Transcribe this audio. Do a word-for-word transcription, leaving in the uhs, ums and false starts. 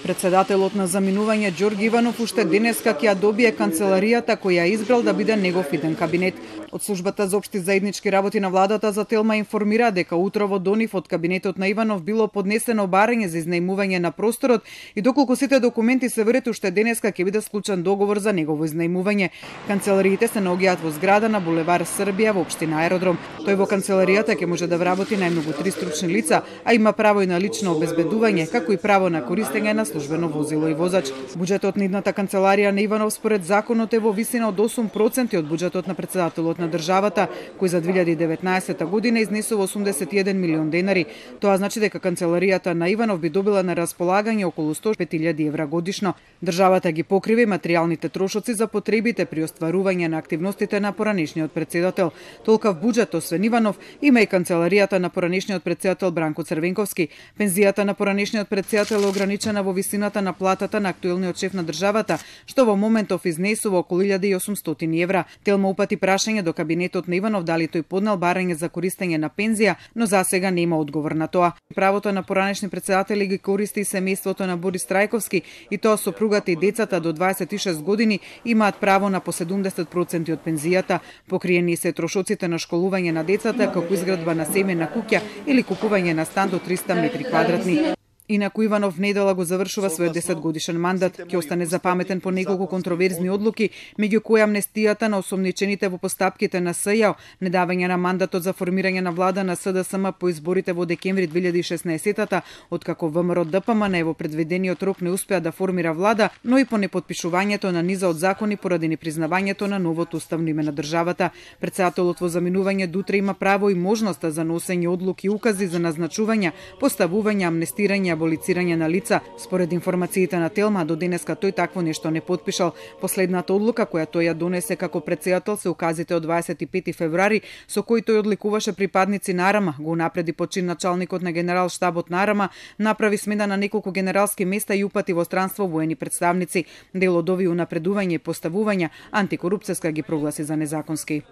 Председателот на заминување Ѓорги Иванов уште денеска ќе ја добие канцеларијата која ја избрал да биде негов иден кабинет. Од службата за општи заеднички работи на владата за Телма информира дека утро во Донив од кабинетот на Иванов било поднесено барање за изнајмување на просторот и доколку сите документи се верат уште денеска ќе биде склучен договор за негово изнајмување. Канцелариите се наоѓаат во зграда на булевар Србија во општина Аеродром. Тој во канцеларијата ќе може да вработи најмногу три стручни лица, а има право и на лично обезбедување, како и право на користење на службено возило и возач. Буџетот на идната канцеларија на Иванов според законот е во висина од осум проценти од буџетот на председателот на државата, кој за две илјади и деветнаесетта година изнесува осумдесет и еден милион денари. Тоа значи дека канцеларијата на Иванов би добила на располагање околу сто и пет илјади евра годишно. Државата ги покрива и материјалните трошоци за потребите при остварување на активностите на поранешниот председател. Толкав буџет освен Иванов има и канцеларијата на поранешниот председател Бранко Црвенковски. Пензијата на поранешниот председател е ограничена во висината на платата на актуелниот шеф на државата, што во моментов изнесува околу илјада и осумстотини евра. Телма упати прашање до кабинетот на Иванов дали тој поднел барање за користење на пензија, но засега нема одговор на тоа. Правото на поранешни председатели ги користи и семејството на Борис Трајковски, и тоа сопругата и децата до дваесет и шест години имаат право на по седумдесет проценти од пензијата. Покриени се трошоците на школување на децата, како изградба на семејна куќа или купување на стан до триста метри квадратни. Инаку Иванов недела го завршува својот десетгодишен мандат. Ќе остане запаметен по неколку контроверзни одлуки, меѓу кои амнестијата на осомничените во постапките на СЈО, недавање на мандатот за формирање на влада на СДСМ по изборите во декември две илјади и шеснаесетта, откако ВМРО ДПМН во предвидениот рок не успеа да формира влада, но и по непотпишувањето на низа од закони поради непризнавањето на новото уставно име на државата. Председателот во заминување дутре има право и можноста за носење одлуки и укази за назначување, поставување, амнестирање, аболицирање на лица. Според информациите на Телма, до денеска тој такво нешто не потпишал. Последната одлука која тој ја донесе како председател се указите од дваесет и пети февруари, со кои тој одликуваше припадници на АРМА, го напреди почин началникот на генерал штабот на АРМА, направи смена на неколку генералски места и упати во странство воени представници. Дел од овие унапредувања и поставувања антикорупцијска ги прогласи за незаконски.